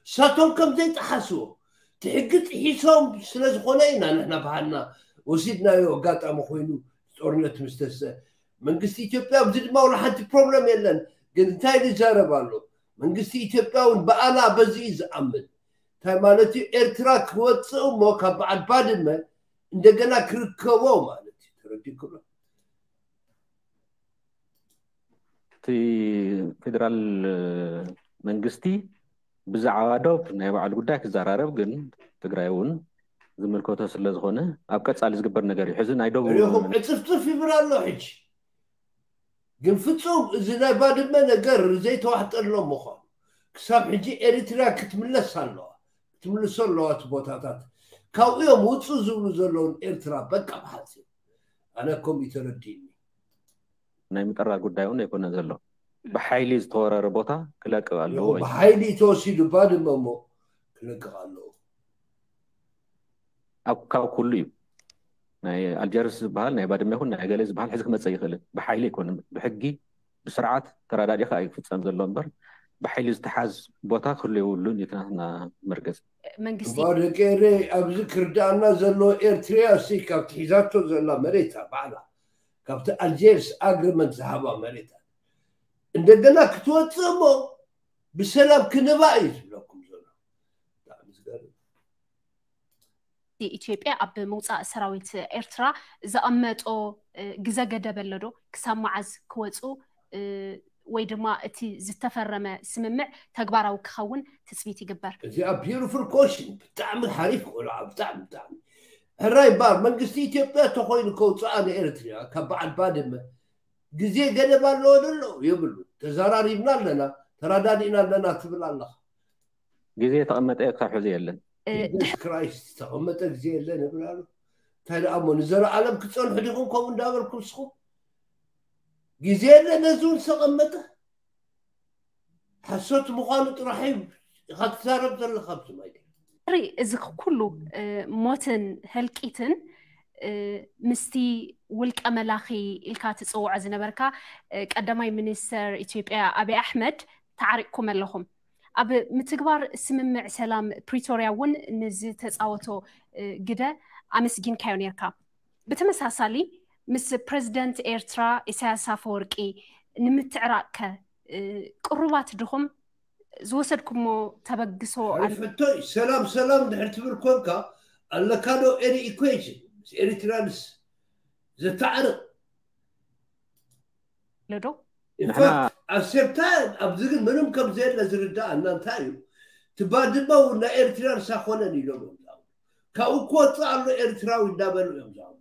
እሳቶም ከም ዘይጠሓስዎ እቲ ሕጊ ጥሒሶም ስለ ዝኾነ ኢና ንሕና ባህልና ወሲድናዮ። ኣጋጣሚ ኮይኑ ጦርነት ምስተሰ መንግስቲ ኢትዮጵያ ኣብዚ ድማ ዋላ ሓንቲ ፕሮብለም የለን። ግን እንታይ ዝዛረብ ኣሎ መንግስቲ ኢትዮጵያ እውን ብኣና በዚ እዩ ዝኣምን። እንታይ ማለት እዩ ኤርትራ ክወፅእ እሞ ካብ በዓል ባድመ እንደገና ክርከቦ ማለት እዩ። ተረዲእኩም? እቲ ፌደራል መንግስቲ ብዛዕባ ዶብ ናይ ባዕሉ ጉዳይ ክዘራረብ ግን ትግራይ እውን ዝምልከቶ ስለ ዝኾነ ኣብ ቀፃሊ ዝግበር ነገር እዩ። ሕዚ ናይ ዶብ ሪኹም ዕፅፍፅፍ ይብል ኣሎ ሕጂ። ግን ፍፁም እዚ ናይ ባድመ ነገር ዘይተዋሕጠሎም ምዃኑ ክሳብ ሕጂ ኤሪትርያ ክትምለስ ኣለዋ ክትምልሶ ኣለዋ እቲ ቦታታት ካብኡ እዮም ውፁ ዝብሉ ዘለውን ኤርትራ በቃ ብሓፂር ኣነ ከምኡ ተረዲእኒ። ናይ ምጥራር ጉዳይ እውን ኣይኮነ ዘሎ። ብሓይሊ ዝተወረረ ቦታ ክለቅቕ ኣለዎ እዩ። ብሓይሊ ተወሲዱ ባድመ እሞ ክለቅቕ ኣለዎ። ኣብ ካብ ኩሉ እዩ ናይ ኣልጀርስ ዝበሃል ናይ ባድመ ይኹን ናይ ገለ ዝበሃል ሕዚ ክመፀ ይኽእልን ብሓይሊ ኣይኮነ ብሕጊ ብስርዓት ተረዳዲእካ እዩ ክፍፀም ዘሎ እምበር ብሓይሊ ዝተሓዝ ቦታ ክህሉ የብሉን እዩ ናትና መርገፂ። መንግስቲ እሞ ደቂ ኤረይ ኣብዚ ክርዳኣና ዘሎ ኤርትርያ ሲ ካብቲ ሒዛቶ ዘላ መሬታ ባዕላ ካብቲ ኣልጀርስ ኣግሪመንት ዝሃባ መሬታ እንደገና ክትወፅእ እሞ ብሰላም ክንባ እዩ ዝብለኩም ዘሎ። ብጣዕሚ ዝገርም። ኢትዮጵያ ኣብ ምውፃእ ሰራዊት ኤርትራ ዘቐመጦ ግዘ ገደብ ኣሎ ዶ? ክሳብ መዓዝ ክወፁ ወይ ድማ እቲ ዝተፈረመ ስምምዕ ተግባራዊ ክኸውን ትፅቢት ይግበር? እዚኣ beautiful question ብጣዕሚ ሓሪፍ ቆልዓ ብጣዕሚ ብጣዕሚ ሕራይ ባር መንግስቲ ኢትዮጵያ ተኮይኑ ከውፅኣ ንኤርትርያ ካብ በዓል ባድመ ግዜ ገደብ ኣለዎ ደሎ የብሉ። ተዘራሪብና ኣለና ተረዳዲእና ኣለና ትብል ኣለኻ። ግዜ የተቐመጠ ክሳብ ሕዚ የለን። ስ ክራይስት ዝተቐመጠ ግዜ የለን ይብል ኣሎ። እንታይ ደኣ እሞ ንዘለኣለም ክፀንሑ ዲኹም ከምኡ እንዳበልኩም ንስኹም ግዜ የለ ነዚ እውን ዝተቐመጠ ሓሶት ምዃኑ ጥራሕ እዩ ኢኻ ትዛረብ ዘለኻ ኣብዚ ማይ ሪ እዚ ኩሉ ሞትን ህልቂትን ምስቲ ውልቀ መላኺ ኢልካ ትፅውዖ ዝነበርካ ቀዳማይ ሚኒስተር ኢትዮጵያ ኣብይ ኣሕመድ ተዓሪቕኩም ኣለኹም። ኣብ ምትግባር ስምምዕ ሰላም ፕሪቶርያ እውን ንዝተፃወቶ ግደ ኣመስጊንካዮ ነርካ። ብተመሳሳሊ ምስ ፕረዚደንት ኤርትራ ኢሳያስ ኣፈወርቂ ንምትዕራቕ ከ ቅሩባት ድኹም? ዝወሰድኩሞ ተበግሶ ኣሎ? ሕቶ እዩ። ሰላም ሰላም ድሕር ትብል ኮንካ ኣለካ ዶ any equation ምስ ኤሪትራንስ ዘተዓርቕ ኣሎ ዶ? ኢንፋክት ኣብ ሴም ታይም ኣብዚ ግን ምንም ከም ዘየለ ዝርዳእ እና እንታይ እዩ ትባድመ እውን ናይ ኤርትራንስ ኣኮነን ኢሎም እዮም ዝኣምኑ። ካብኡ ክወፅእ ኣሎ ኤርትራዊ እንዳበሉ እዮም ዝኣምኑ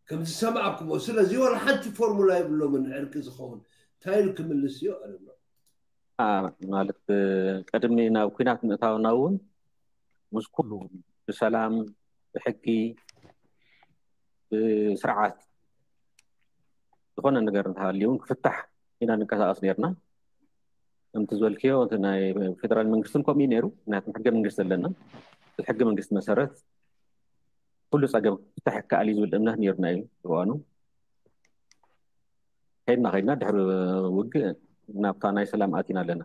ከም ዝሰማዕኩሞ። ስለዚ ወላ ሓንቲ ፎርሙላ የብሎምን ዕርቂ ዝኸውን እንታይ ኢሉ ክምልስ እዩ ኣለም ማለት ቅድሚ ናብ ኩናት ምእታውና እውን ምስ ኩሉ ብሰላም ብሕጊ ብስርዓት ዝኾነ ነገር እንተሃልዩ እውን ክፍታሕ ኢና ንንቀሳቐስ ነርና። ከምቲ ዝበልክዮ እቲ ናይ ፌደራል መንግስትን ከምኡ እዩ ነይሩ። ምክንያቱም ሕገ መንግስቲ ኣለና። ብሕገ መንግስቲ መሰረት ኩሉ ፀገም ክፍታሕ ይከኣል እዩ ዝብል እምነት ነይሩና እዩ እዋኑ። ከይድና ከይድና ድሕሪ ውግእ ናብታ ናይ ሰላም ኣቲና ኣለና።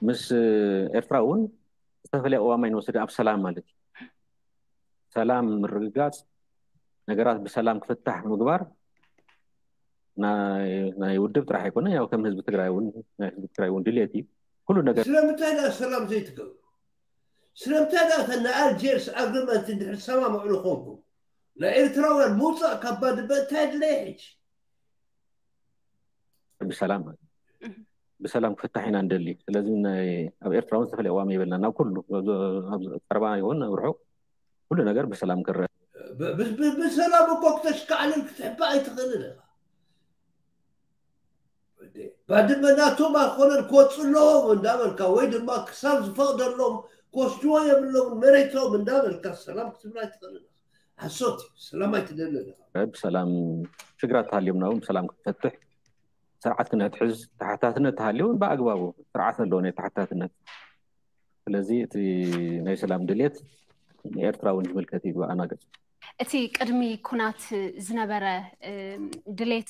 ምስ ኤርትራ እውን ዝተፈለየ ቅዋም ኣይንወስድን ኣብ ሰላም ማለት እዩ። ሰላም ምርግጋፅ ነገራት ብሰላም ክፍታሕ ምግባር ናይ ውድብ ጥራሕ ኣይኮነ ያው ከም ህዝቢ ትግራይ እውን ናይ ህዝቢ ትግራይ እውን ድልየት እዩ። ኩሉ ነገር ስለምንታይ ዳ ሰላም ዘይትገብሩ? ስለምንታይ ዳ እተን ናይ ኣልጀርስ ኣግሪመንት እንድሕር ሰማምዕሉ ኮንኩም ናይ ኤርትራውያን ምውፃእ ካብ ባድመ እንታይ ድለየ ሕጂ? ብሰላም ማለት ብሰላም ክፍታሕ ኢና ንደሊ። ስለዚ ኣብ ኤርትራ እውን ዝተፈለየ ቅዋም የብልና ናብ ኩሉ ኣብ ቀረባ ይኹን ኣብ ርሑቕ ኩሉ ነገር ብሰላም ክረአ ብሰላም እኮ ክተሽካዕልን ክትሕባ ኣይትኽእልን ኢኻ። ባድመ ናቶም ኣይኮነን ክወፁ ኣለዎም እንዳበልካ ወይ ድማ ክሳብ ዝፈቕደሎም ክወስድዎ የብሎም መሬቶም እንዳበልካ ሰላም ክትብል ኣይትኽእልን። ሓሶት እዩ። ሰላም ኣይትደልን። ብሰላም ሽግራት ተሃልዮምና እውን ብሰላም ክትፈትሕ ስርዓት ክነትሕዝ ተሓታትነት ተሃልዮ እውን ብኣግባቡ ስርዓት ኣለዎ ናይ ተሓታትነት። ስለዚ እቲ ናይ ሰላም ድሌት ንኤርትራ እውን ዝምልከት እዩ ብኣና ገጽ። እቲ ቅድሚ ኩናት ዝነበረ ድሌት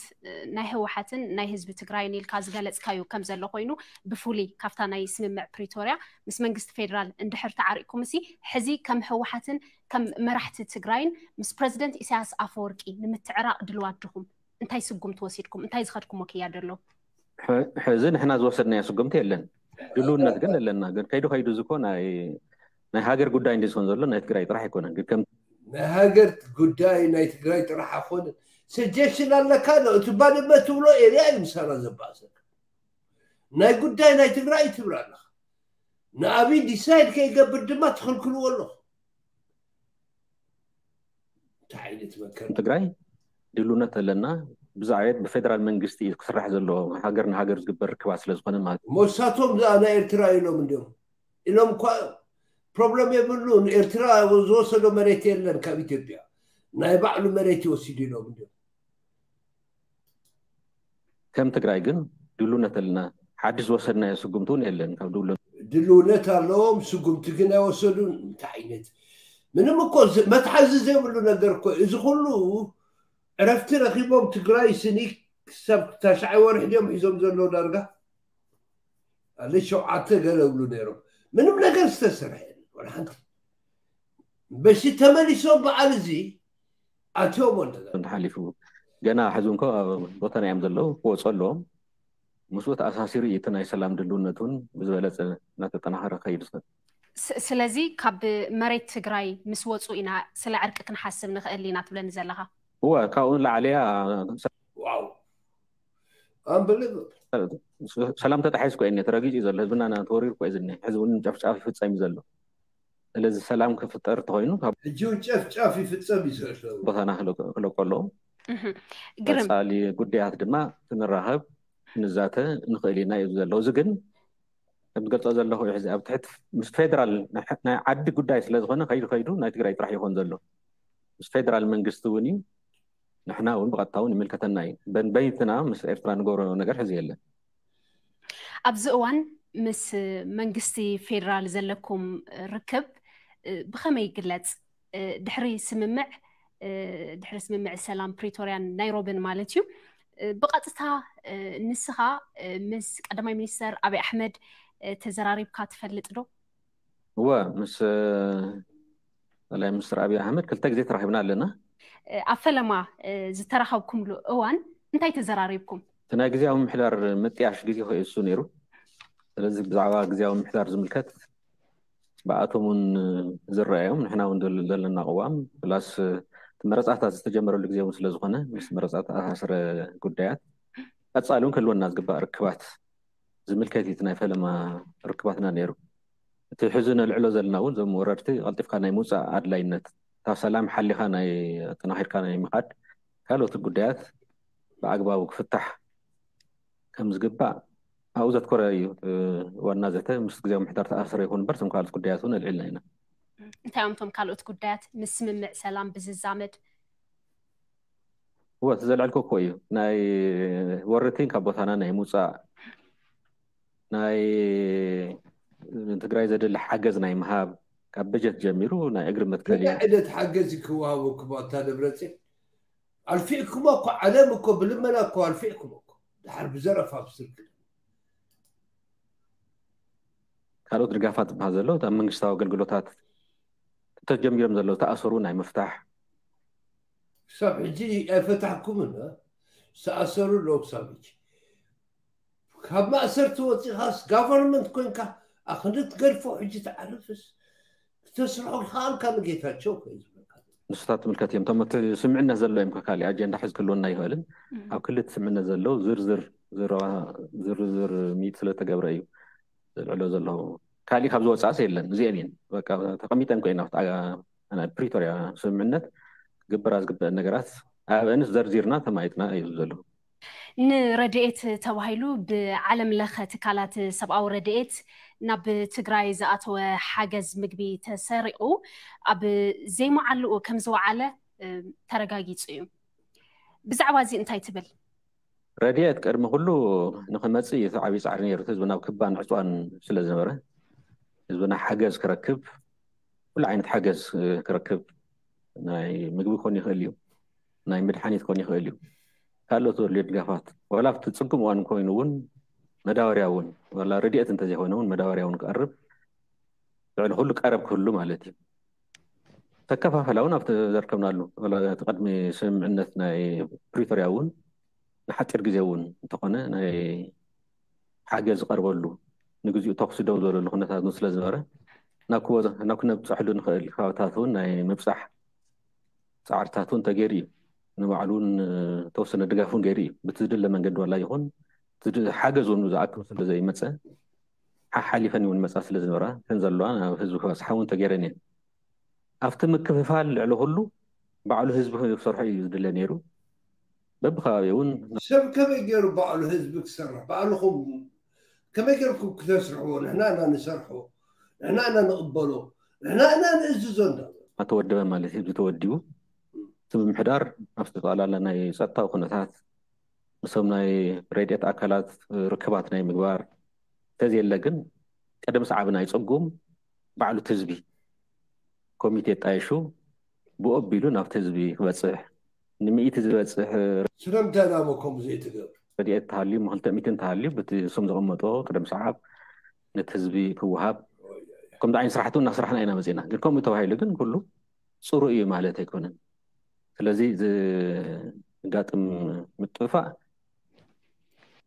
ናይ ህወሓትን ናይ ህዝቢ ትግራይን ኢልካ ዝገለፅካዩ ከም ዘሎ ኮይኑ ብፍሉይ ካብታ ናይ ስምምዕ ፕሪቶርያ ምስ መንግስቲ ፌዴራል እንድሕር ተዓሪቅኩም ሲ ሕዚ ከም ህወሓትን ከም መራሕቲ ትግራይን ምስ ፕረዚደንት ኢሳያስ ኣፈወርቂ ንምትዕራቅ ድልዋት ድኹም? እንታይ ስጉምቲ ወሲድኩም? እንታይ ዝኸድኩሞ ክያዶ ኣሎ? ሕዚ ንሕና ዝወሰድናዮ ስጉምቲ የለን። ድልውነት ግን ኣለና። ግን ከይዱ ከይዱ ዝኮ ናይ ናይ ሃገር ጉዳይ እንዲ ዝኮን ዘሎ ናይ ትግራይ ጥራሕ ኣይኮነን። ግን ከም ናይ ሃገር ጉዳይ ናይ ትግራይ ጥራሕ ኣይኮነን። ሰጀሽን ኣለካ ዶ? እቲ ባድመ ትብሎ ኤርያ እዩ ምሳና ዘባእሰካ። ናይ ጉዳይ ናይ ትግራይ ትብላ ኣለካ። ንኣብይ ዲሳይድ ከይገብር ድማ ትኽልክልዎ ኣለኹ። እንታይ ዓይነት መከራ? ትግራይ ድልውነት ኣለና። ብዛዕባ ብፌደራል መንግስቲ እዩ ክስራሕ ዘለዎ። ሃገር ንሃገር ዝግበር ርክባት ስለዝኮነ ማለት እዩ። ሞሳቶም ዝኣ ናይ ኤርትራ ኢሎም እንዲዮም ኢሎም እኳ ፕሮብለም የብሉን። ኤርትራ ዝወሰዶ መሬት የለን ካብ ኢትዮጵያ። ናይ ባዕሉ መሬት ይወሲዱ ኢሎም እንዲዮም። ከም ትግራይ ግን ድልውነት ኣለና። ሓድሽ ዝወሰድናዮ ስጉምቲ እውን የለን። ካብ ድሉ ድልውነት ኣለዎም፣ ስጉምቲ ግን ኣይወሰዱን። እንታይ ዓይነት ምንም እኮ ዝ- መትሓዚ ዘይብሉ ነገር እኮ እዩ። እዚ ኩሉ ዕረፍቲ ረኪቦም ትግራይ ስኒ ክሳብ ታሽዓይ ወርሒ ድዮም ሒዞም ዘለዉ ዳርጋ ኣለ ሸውዓተ ገለ እብሉ ነይሮም። ምንም ነገር ዝተሰርሐ የለን ወላ ሓንቲ። በሲ ተመሊሶም በዓል እዚ ኣትዮም ወንደ እንተሓሊፉ ገና ሕዚ እንኮ ኣብ ቦታና እዮም ዘለዉ ክወፁ ኣለዎም። ምስኡ ተኣሳሲሩ እዩ እቲ ናይ ሰላም ድልውነት እውን ብዝበለፀ እናተጠናኸረ ከይድ ዝኽእል። ስ- ስለዚ ካብ መሬት ትግራይ ምስ ወፁ ኢና ስለ ዕርቂ ክንሓስብ ንኽእል ኢና ትብለኒ ዘለኻ? እወ ካብኡ ንላዕሊ እያ። ዋው ኣንበለ ሰላም ተጣሒሱ እኮ እዩ ተረጊጹ እዩ ዘሎ። ህዝብና ና ተወሪሩ እኮ እዩ ዝኒሀ። ሕዚ እውን ጨፍጫፍ ይፍጸም እዩ ዘሎ። ስለዚ ሰላም ክፍጠር እንተኾይኑ ካብ ሕጂ እውን ጨፍጫፍ ይፍጸም እዩ ዘሎ። ቦታና ክለቆ ኣለዎም። እህ፣ ግርም ቀጻሊ ጉዳያት ድማ ክንራኸብ ክንዛተ ንኽእል ኢና እዩ ዘሎ። እዚ ግን ከም ዝገልጾ ዘለኹ እዩ ሕዚ ኣብ ትሕቲ ምስ ፌደራል ናይ ዓዲ ጉዳይ ስለ ዝኾነ ከይዱ ከይዱ ናይ ትግራይ ጥራሕ ይኾን ዘሎ። ምስ ፌደራል መንግስቲ እውን እዩ። ንሕና እውን ብቐጥታ እውን ይምልከተና እዩ። በንበይትና ምስ ኤርትራ ንገብሮ ነገር ሕዚ የለን። ኣብዚ እዋን ምስ መንግስቲ ፌደራል ዘለኩም ርክብ ብኸመይ ይግለጽ? ድሕሪ ስምምዕ ድሕሪ ስምምዕ ሰላም ፕሪቶርያን ናይሮብን ማለት እዩ ብቐጥታ ንስኻ ምስ ቀዳማይ ሚኒስተር ኣብይ ኣሕመድ ተዘራሪብካ ትፈልጥ ዶ? እወ ምስ ጠቅላይ ሚኒስትር ኣብይ ኣሕመድ ክልተ ግዜ ተራኺብና ኣለና። ኣብ ፈለማ ዝተራኸብኩምሉ እዋን እንታይ ተዘራሪብኩም? እቲ ናይ ግዜያዊ ምምሕዳር ምጥያሽ ግዜ ከእሱ ነይሩ። ስለዚ ብዛዕባ ግዜያዊ ምምሕዳር ዝምልከት ብኣቶም እውን ዝረኣዮም ንሕና እውን ዘለና ቅዋም ፕላስ እቲ መረፃታት ዝተጀመረሉ ግዜ እውን ስለዝኾነ ምስ መረፃ ተኣሳስረ ጉዳያት ቀፃሊ እውን ክህልወና ዝግባእ ርክባት ዝምልከት እዩ እቲ ናይ ፈለማ ርክባትና ነይሩ። እቲ ሕዚ ነልዕሎ ዘለና እውን እዞም ወረርቲ ቀልጢፍካ ናይ ምውፃእ ኣድላይነት እታ ሰላም ሓሊኻ ናይ ኣጠናኺርካ ናይ ምኻድ ካልኦት ጉዳያት ብኣግባቡ ክፍታሕ ከም ዝግባእ ኣብኡ ዘትኮረ እዩ። ዋና ዘተ ምስ ግዜያዊ ምምሕዳር ተኣሳሰረ ይኹን እምበር እቶም ካልኦት ጉዳያት እውን ኣልዒልና ኢና። እንታይ እዮም እቶም ካልኦት ጉዳያት ምስ ስምምዕ ሰላም ብዝዛመድ? እወ እቲ ዘልዐልኩ እኮ እዩ ናይ ወረርቲን ካብ ቦታና ናይ ምውፃእ ናይ ትግራይ ዘድሊ ሓገዝ ናይ ምሃብ ካብ በጀት ጀሚሩ ናይ እግሪ መትከል እዩ። እንታይ ዓይነት ሓገዝ ክወሃበኩም ኣታ ደብረፅዮን? ኣልፊዕኩሞ እኮ ዓለም እኮ ብልመና እኮ ኣልፊዕኩም እኮ ድሓር ብዘረፋ ብስልክ ካልኦት ድጋፋት ዝበሃል ዘሎ ኣብ መንግስታዊ ኣገልግሎታት ተጀሚሮም ዘለዉ ተኣሰሩ ናይ ምፍታሕ ክሳብ ሕጂ ኣይፈታሕኩምን። ዝተኣሰሩ ኣለዉ ክሳብ ሕጂ ካብ ማእሰርቲ ወፂኻስ ጋቨርንመንት ኮይንካ ኣክንዲ ትገድፎ ሕጂ ትዓርፍስ ክተስርሖ ከኣልካ ንጌታቸው ከዩ ዝብለካ ንሱታት ትምልከት እዮም። እቶም እቲ ስምዕነት ዘሎ እዮም ካሊእ ኣጀንዳ ሕዚ ክህልወና ይኽእልን ኣብ ክልል ስምዕነት ዘለዉ ዝርዝር ዝረባ ዝርዝር ሚት ስለተገብረ እዩ ዘልዕሎ ዘለዉ። ካሊእ ካብ ዝወፃእስ የለን። እዚአን እየን በቃ ተቐሚጠን ኮይና ናይ ፕሪቶሪያ ስምምዕነት ክግበራ ዝግበአን ነገራት ኣብአንስ ዘርዚርና ተማይጥና እዩ ዘሎ። ንረድኤት ተባሂሉ ብዓለም ለኸ ትካላት ሰብኣዊ ረድኤት ናብ ትግራይ ዝኣተወ ሓገዝ ምግቢ ተሰሪቑ ኣብ ዘይመዓልኡ ከም ዝወዓለ ተረጋጊፁ እዩ። ብዛዕባ እዚ እንታይ ትብል? ረድኤት ቅድሚ ኩሉ ንክመፅእ እቲ ዓብዪ ፃዕሪ ነይሩ። ህዝብና ኣብ ክባን ዕፅዋን ስለ ዝነበረ ህዝብና ሓገዝ ክረክብ፣ ኩሉ ዓይነት ሓገዝ ክረክብ፣ ናይ ምግቢ ክኾን ይኽእል እዩ፣ ናይ መድሓኒት ክኾን ይኽእል እዩ፣ ካልኦት ዘድልዮ ድጋፋት፣ ዋላ ኣብቲ ፅጉም እዋን ኮይኑ እውን መዳበርያ እውን፣ ዋላ ረድኤት እንተዘይኮነ እውን መዳበርያ እውን ክቐርብ ልዕሊ ኩሉ ቀረብ ክህሉ ማለት እዩ። ተከፋፈላ እውን ኣብቲ ዘርከብናሉ፣ ዋላ እቲ ቅድሚ ስምምዕነት ናይ ፕሪቶርያ እውን ንሓፂር ግዜ እውን እንተኾነ ናይ ሓገዝ ዝቐርበሉ፣ ንግዚኡ ተኹሲ ደው ዝበለሉ ኩነታት እውን ስለ ዝነበረ ናብ ክበ- ናብ ክነብፀሐሉ ንኽእል ከባብታት እውን ናይ ምብፃሕ ፃዕርታት እውን ተገይሩ እዩ። ንባዕሉ እውን ተወሰነ ድጋፍ እውን ገይሩ እዩ። ብቲ ዝድለ መንገዲ ዋላ ይኹን እቲ ድ- ሓገዝ እውን ዝኣክል ስለ ዘይመፀ ሓሓሊፈን እውን መፃ ስለ ዝነበራ እተን ዘለዋ ናብ ህዝቢ ክበፅሓ እውን ተገይረን እየን። ኣብቲ ምክፍፋል ልዕሊ ኩሉ ባዕሉ ህዝቢ ክሰርሖ እዩ ዝድለ ነይሩ። በብከባቢ እውን ሰብ ከመይ ገይሩ ባዕሉ ህዝቢ ክሰርሕ? ባዕልኹም ከመይ ገይርኩም ክተስርሕዎ? ንሕና ኢና ንሰርሖ፣ ንሕና ኢና ንቕበሎ፣ ንሕና ኢና ንእዝዞ እንዳ ተወደበ ማለት ህዝቢ ተወዲቡ እቲ ምምሕዳር ኣብ ዝተጠቓላለ ናይ ጸጥታዊ ኩነታት ምስቶም ናይ ረድኤት ኣካላት ርክባት ናይ ምግባር እንተዘየለ ግን ቀደም ሰዓብ ናይ ጸጉም ባዕሉ እቲ ህዝቢ ኮሚቴ ጣይሹ ብኡ ኣቢሉ ናብቲ ህዝቢ ክበጽሕ ንምእቲ ዝበጽሕ ስለምንታይ ናበ ከምኡ ዘይትገብር? ረድኤት ተሃልዩ ክልተ ሚእቲ እንተሃልዩ ብቲ እሶም ዘቐመጦ ቅደም ሰዓብ ነቲ ህዝቢ ክወሃብ ከምዚ ዓይነት ስራሕቲ እውን እናስራሕና ኢና መፂና። ግን ከምኡ ተባሂሉ ግን ኩሉ ፅሩይ እዩ ማለት ኣይኮነን። ስለዚ ዘጋጥም ምጥፋእ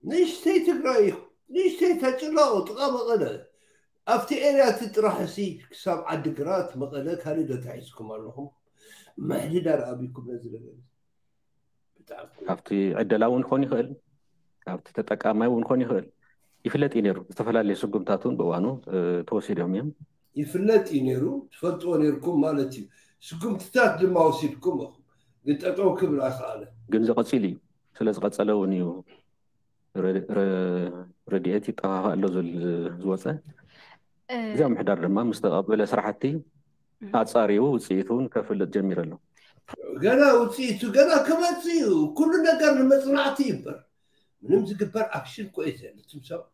ንእሽተይ ትግራይ እዩ። ንእሽተይ ተጭላኦ ጥቃ መቐለ ኣብቲ ኤርያ እቲ ጥራሕ እሲ ክሳብ ዓዲግራት መቐለ ካሊእ ዶ ተሒዝኩም ኣለኹም? ምሕድዳር ኣቢኩም ነዚ ነገር እዚ። ብጣዕሚ ካብቲ ዕደላ እውን ክኾን ይኽእል፣ ካብቲ ተጠቃማይ እውን ክኾን ይኽእል። ይፍለጥ እዩ ነይሩ። ዝተፈላለዩ ስጉምታት እውን ብእዋኑ እ፣ ተወሲዶም እዮም። ይፍለጥ እዩ ነይሩ፣ ትፈልጥዎ ነይርኩም ማለት እዩ። ስጉምትታት ድማ ወሲድኩም ኢኹም፣ ግን ጠጠው ክብል ኣይከኣለ። ግን ዝቐፂል እዩ። ስለ ዝቐፀለ እውን እዩ ረ- ረ- ረድኤት ይጠፋፋእ ኣሎ ዝብል ዝወፀ። እዚኣ ምሕዳር ድማ ምስ ተቐበለ ስራሕቲ ኣፃሪቡ ውፅኢቱ እውን ከፍልጥ ጀሚሩ ኣሎ። ገና ውፅኢቱ ገና ክመፅእ እዩ። ኩሉ ነገር ንመፅናዕቲ ይበር ምንም ዝግበር ኣክሽን እኮ እዩ ዘለ። እቶም ሰባት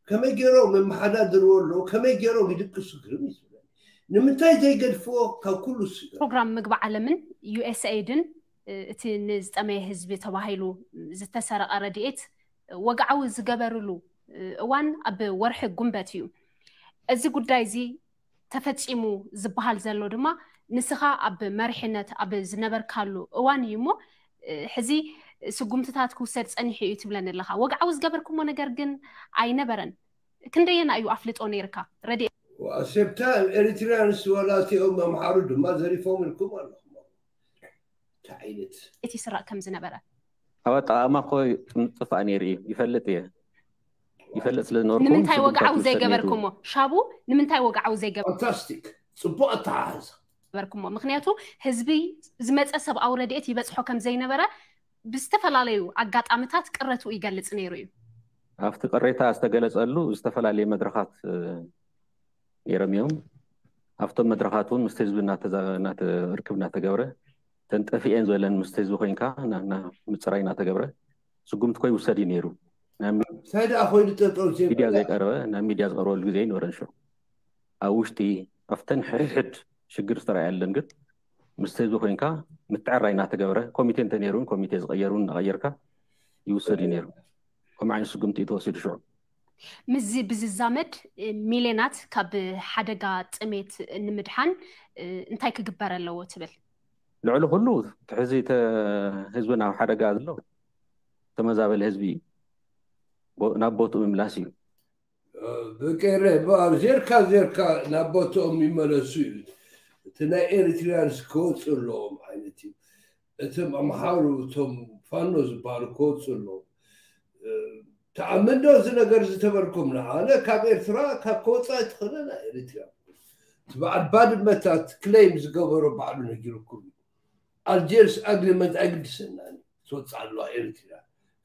ከመይ ገይሮም የመሓዳድርዎ ኣለዉ፣ ከመይ ገይሮም ይድቅሱ ግርም እዩ ዝብለኒ። ንምንታይ ዘይገድፍዎ ካብ ኩሉ ስጋ ፕሮግራም ምግቢ ዓለምን ዩኤስኤድን እቲ ንዝጠመየ ህዝቢ ተባሂሉ ዝተሰረቐ ረድኤት ወግዓዊ ዝገበርሉ እዋን ኣብ ወርሒ ጉንበት እዩ። እዚ ጉዳይ እዚ ተፈፂሙ ዝበሃል ዘሎ ድማ ንስኻ ኣብ መሪሕነት ኣብ ዝነበርካሉ እዋን እዩ እሞ ሕዚ ስጉምትታት ክውሰድ ፀኒሑ እዩ ትብለኒ ኣለኻ። ወግዓዊ ዝገበርኩሞ ነገር ግን ኣይነበረን። ክንደየና እዩ ኣፍልጦ ነይርካ? ረድኤት ኣሴብታ ኤሪትሪያንስ ዋላ እቲኦም ኣምሓሩ ድማ ዘሪፎም ኢልኩም ኣለኹም። እንታይ ዓይነት እቲ ይስረቕ ከም ዝነበረ ኣብ ኣጠቓቕማ እኮ ጥፋእ ነይሩ እዩ። ይፈልጥ እየ። ይፈልጥ ስለ ዝነበርኩ ንምንታይ ወግዓዊ ስጉምትታት ይውሰድ ነይሩ። ዘይገበርኩሞ? ሻቡ ንምንታይ ወግዓዊ ዘይገበር ፋንታስቲክ፣ ፅቡቅ ኣተሓሕዛ። ገበርኩሞ? ምክንያቱ ህዝቢ ዝመፀ ሰብኣዊ ረድኤት ይበፅሖ ከም ዘይነበረ ብዝተፈላለዩ ኣጋጣምታት ቅረትኡ ይገልፅ ነይሩ እዩ። ኣብቲ ቅሬታ ዝተገለፀሉ ዝተፈላለዩ መድረኻት እ፣ ነይሮም እዮም። ኣብቶም መድረኻት እውን ምስ ህዝቢ እናተዛ- እናተ- ርክብ እናተገብረ ተንጠፊኤን ዝበለን ምስ ህዝቢ ኮይንካ እና- እና- ምፅራይ እናተገብረ ስጉምቲ ኮ ይውሰድ እዩ ነይሩ። ናብ ሚ- እንታይ ደኣ ኮይኑ ጠጠው ሚድያ ዘይበለ? ዘይቀረበ ናብ ሚድያ ዝቀርበሉ ግዜ ይነበረን ሽዑ ኣብ ውሽጢ ኣብተን ሕድሕድ ሽግር ዝተረኣየለን ግን ምስ ህዝቢ ኮይንካ ምትዕራይ እናተገበረ ኮሚቴ እንተነይሩ እውን ኮሚቴ ዝቀየሩ እናቀየርካ ይውሰድ እዩ ነይሩ። ከምኡ ዓይነት ስጉምቲ እዩ ተወሲዱ ሽዑ። ምስዚ ብዝዛመድ ሚልዮናት ካብ ሓደጋ ጥሜት ንምድሓን እንታይ ክግበር ኣለዎ ትብል? ልዕሊ ኩሉ እቲ ሕዚ ተ- ህዝብና ኣብ ሓደጋ ዘሎ ተመዛበለ ህዝቢ እዩ። ቦ- ናብ ቦትኡ ምምላስ እዩ። ብቀረ ዜርካ ዜርካ ናብ ቦትኦም ይመለሱ እዩ። እቲ ናይ ኤሪትሪያንስ ክወፁ ኣለዎም ዓይነት እዩ። እቶም ኣምሓሩ እቶም ፋኖ ዝበሃሉ ክወፁ ኣለዎም። ተኣምን ዶ እዚ ነገር ዝተበልኩም? ንኣነ ካብ ኤርትራ ካብ ከወፃ ኣይትኽእልን እያ ኤሪትሪያ። እቲ በዓል ባድመታት ክለይም ዝገበሮ ባዕሉ ነጊሩኩም እዩ። ኣልጀርስ ኣግሪመንት ኣይግድሰናን እዩ። ትወፅእ ኣለዋ ኤርትራ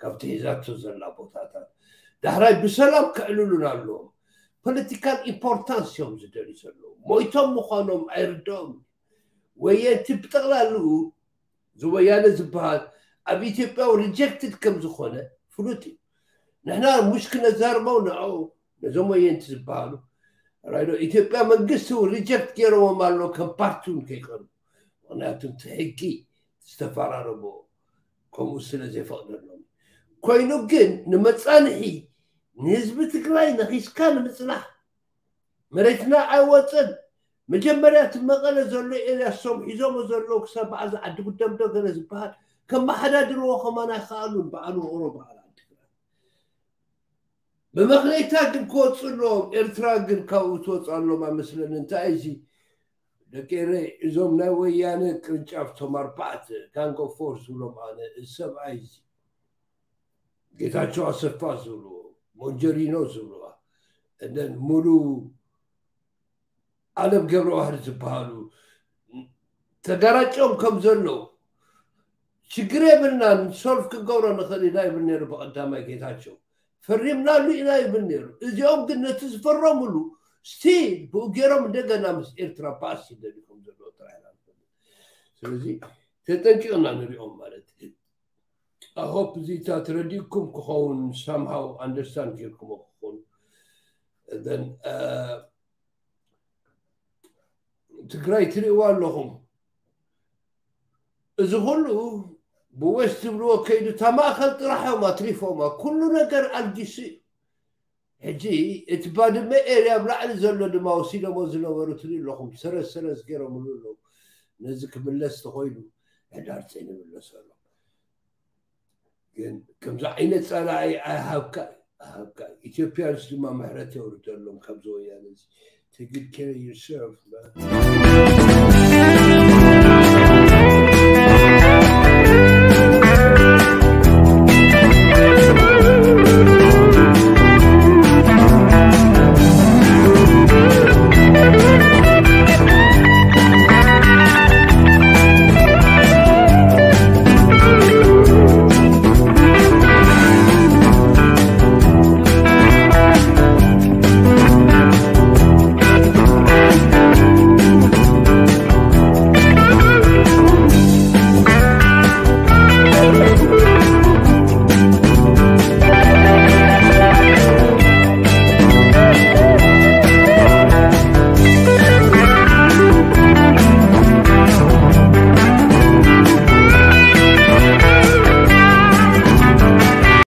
ካብቲ ሒዛቶ ዘላ ቦታታት። ዳሕራይ ብሰላም ከዕልሉን ኣለዎም። ፖለቲካል ኢምፖርታንስ እዮም ዝደልዩ ዘለዉ። ሞይቶም ምዃኖም ኣይርድኦም። ወየንቲ ብጠቕላልኡ ዝወያነ ዝበሃል ኣብ ኢትዮጵያ ሪጀክትድ ከም ዝኾነ ፍሉጥ እዩ። ንሕና ሙሽ ክነዛርበው ንዕኡ ነዞም ወየንቲ ዝበሃሉ ራይዶ ኢትዮጵያ መንግስቲ እውን ሪጀክት ገይረዎም ኣሎ ከም ፓርቲ እውን ከይቀርቡ። ምክንያቱ እቲ ሕጊ ዝተፈራረሞ ከምኡ ስለ ዘይፈቕደሎም ኮይኑ ግን ንመፃንሒ ንህዝቢ ትግራይ ነኺስካ ንምፅናሕ መሬትና ኣይወፅን። መጀመርያ እቲ መቐለ ዘሎ ኤርያ ሶም ሒዞሞ ዘለዉ ክሳብ በዓል ዓዲ ጉደምዶ ገለ ዝበሃል ከመሓዳድርዎ ከማን ኣይከኣሉን። በዓል ውቕሮ በዓል ዓዲግራት ብመኽለይታ ግን ክወፁ ኣለዎም። ኤርትራ ግን ካብኡ ትወፁ ኣለዎም ኣይመስለኒ። እንታይ እዚ ደቂ ኤረይ እዞም ናይ ወያነ ቅርንጫፍ ቶም ኣርባዕተ ጋንግ ኦፍ ፎር ዝብሎም ኣነ እዚ ሰብኣይ እዚ ጌታቸው ኣሰፋ ዝብልዎ ሞንጀሪኖ ዝብልዋ እደን ሙሉ ኣለም ገብረዋህድ ዝበሃሉ ተጋራጭዮም ከም ዘለዉ ሽግር የብልናን ሶልፍ ክንገብሮ ንኽእል ኢና ይብል ነይሩ ብቐዳማይ ጌታቸው ፈሪምናሉ ኢና ይብል ነይሩ። እዚኦም ግን ነቲ ዝፈረሙሉ ስቲል ብኡ ገይሮም እንደገና ምስ ኤርትራ ባስ ይደልዩ ከም ዘለዉ ጥራይ ኢና ንፈልጥ። ስለዚ ተጠንቂቕና ንሪኦም ማለት እዩ። I hope እዚ እታ ተረዲእኩም ክኸውን somehow understand ጌርኩሞ ክኾኑ then ትግራይ ትሪእዋ ኣለኹም። እዚ ኩሉ ብዌስት ትብልዎ ከይዱ እታ ማእኸል ጥራሕ እዮም ኣትሪፎማ። ኩሉ ነገር ኣልጊሱ እዩ። ሕጂ እቲ ባድመ ኤርያ ኣብ ላዕሊ ዘሎ ድማ ወሲዶሞ ዝነበሩ ትሪኢ ኣለኹም። ሰረዝ ሰረዝ ገይሮምሉ ኣለዉ። ነዚ ክምለስ ተኾይኑ ሕዳር ፂን ይምለሱ ኣሎ። ግን ከምዚ ዓይነት ፀላኢ ኣይሃብካ ኣይሃብካ። ኢትዮጵያንስ ድማ ምሕረት የውርደሎም ካብዚ ወያነ እዚ take good care of yourself man.